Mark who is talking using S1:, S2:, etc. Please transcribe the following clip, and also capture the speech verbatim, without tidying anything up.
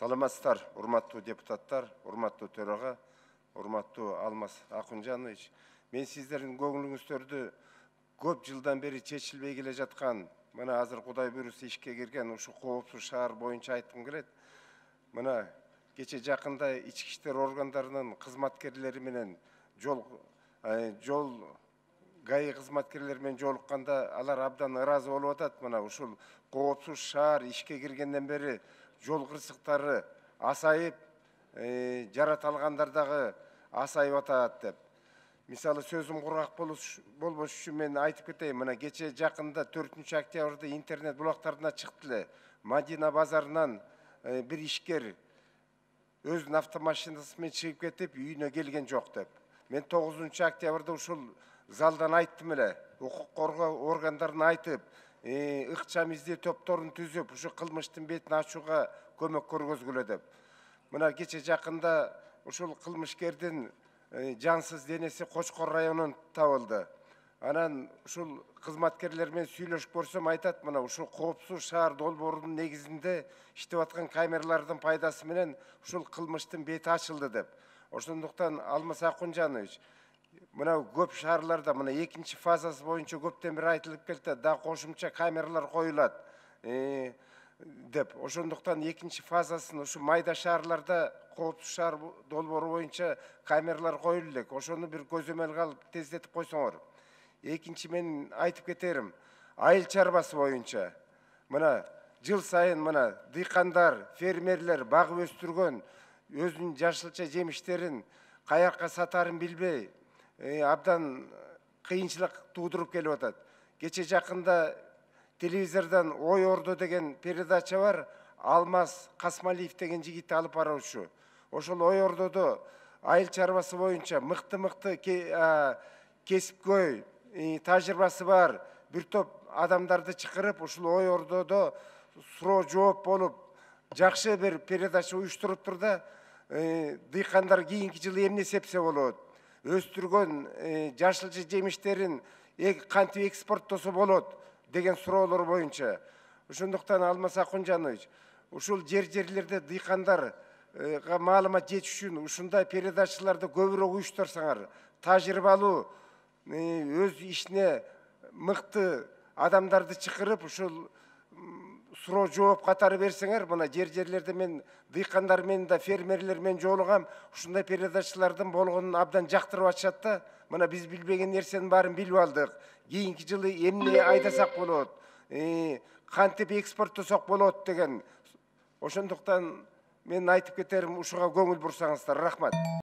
S1: Саламатсыздар, урматтуу депутаттар, урматтуу төрага, урматтуу Алмаз Акунжанович. Мен сиздердин көңүлүңүздөрдү көп жылдан бери чечилбей келе жаткан, мына азыр Кудай буйруса ишке кирген ушу коопсуз шаар боюнча айткым келет. Мына кече жакында ички иштер органдарынын кызматкерлери менен жол жол ГАИ кызматкерлери менен жолукканда алар абдан ыраазы болуп атат. Мына ушул коопсуз шаар ишке киргенден бери жол кырсыктары асайып, жарат алгандар дагы асайып атат деп. Мисалы сөзүм кургак болбош үчүн мен айтып кетейин. Мына кече жакында төртүнчү октябрда интернет булактарына чыкты эле. Мадина базарынан бир ишкер өзүнүн автомашинасы менен чыгып кетип, үйүнө келген жок деп. Мен тогузунчу октябрда ушул залдан айттым эле. Укук коргоо органдарына айтып, ыкчам издөө топторун түзүп, ушу кылмыштын бетин ачууга көмөк көргөзгүлө деп. Мына кече жакында ушул кылмышкердин жансыз денеси Кочкор районунан табылды. Анан ушул кызматкерлер менен сүйлөшүп көрсөм айтат, мына ушул коопсуз шаар долбоорунун негизинде иштеп аткан камералардын пайдасы менен ушул кылмыштын бети ачылды деп. Ошондуктан Алмаз Акунжанович, мына көп шаарларда мына экинчи фазасы боюнча көптөн бери айтылып келди, да кошумча камералар коюлат деп. Ошондуктан экинчи фазасын ушу майда шаарларда коопсуз шаар долбоору боюнча камералар коюлу элек. Ошону бир көзөмөлгө алып тездетип койсоңор. Экинчи мен айтып кетерим, айыл чарбасы боюнча мына жыл сайын мына дыйкандар, фермерлер багып өстүргөн өзүнүн жашылча жемиштерин каякка сатарын билбей, абдан кыйынчылык туудуруп келип атат. Кече жакында телевизордон Ой Ордо деген передача бар. Алмаз Касмалиев деген жигитти алып баруучу. Ошол Ой Ордодо айыл чарбасы боюнча мыкты-мыкты кесипкөй тажрыйбасы бар бир топ адамдарды чакырып, ушул Ой Ордодо суроо жооп болуп, жакшы бир передача уюштуруптур да, дыйкандар кийинки жылы эмне сепсе болот, өстүргөн жашылча жемиштерин кантип экспорттосо болот деген суроолор боюнча. Ошондуктан Алмаз Акунжанович, ушул жер-жерлерде дыйкандарга маалымат жетиш үчүн ушундай передачаларды көбүрөөк уюштурсаңар, тажрыйбалуу, өз ишине мыкты адамдарды чакырып, ушул суроо жооп катары берсеңер, мына жер-жерлерде мен дыйкандар менен да фермерлер менен жолугам, ушундай передачалардын болгонун абдан жактырып атышат да. Мына биз билбеген нерсенин баарын билип алдык. Кийинки жылы эмне айдасак болот, кантип экспорттосок болот деген. Ошондуктан мен айтып кетерим, ушуга көңүл бурсаңыздар. Рахмат.